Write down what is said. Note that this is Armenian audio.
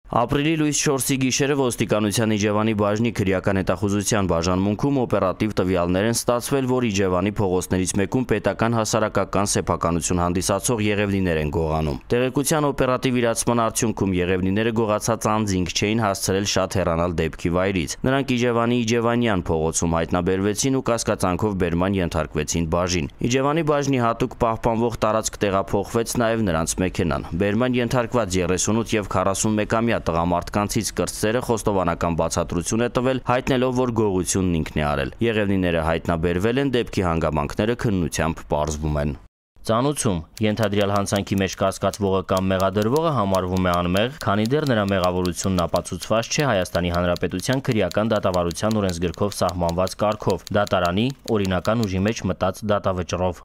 Ապրիլի լույս 4-ի գիշերը ոստիկանության Իջևանի բաժնի քրեական հետախուզության բաժանմունքում օպերատիվ տվյալներ են ստացվել, որ Իջևանի փողոցներից մեկում պետական հասարակական սեփականություն հանդիսացող եղևնիներ են գողանում։ Տեղեկության օպերատիվ իրացման արդյունքում եղևնիները գողացած անձինք չէին հասցրել շատ հեռանալ դեպքի վայրից։ Նրանք Իջևանի Իջևանյան փողոցում հայտնաբերվեցին ու կասկածանքով բերման ենթարկվեցին բաժին։ Իջևանի բաժնի հատուկ պահպանվող տարածք տեղափոխվեց նաև նրանց մեքենան։ Բերման ենթարկված 38 և 41-ամյա տղամարդկանցից կրտսերը խոստովանական բացատրություն է տվել, հայտնելով, որ գողությունն ինքն է արել։ Եղևնիները հայտնաբերվել են, դեպքի հանգամանքները քննությամբ պարզվում են։ Ծանուցում ենթադրյալ հանցանքի մեջ կասկածվողը կամ մեղադրվողը համարվում է անմեղ, քանի դեռ նրա մեղավորությունն ապացուցված չէ Հայաստանի Հանրապետության քրեական դատավարության օրենսգրքով սահմանված կարգով՝ դատարանի օրինական ուժի մեջ մտած դատավճռով։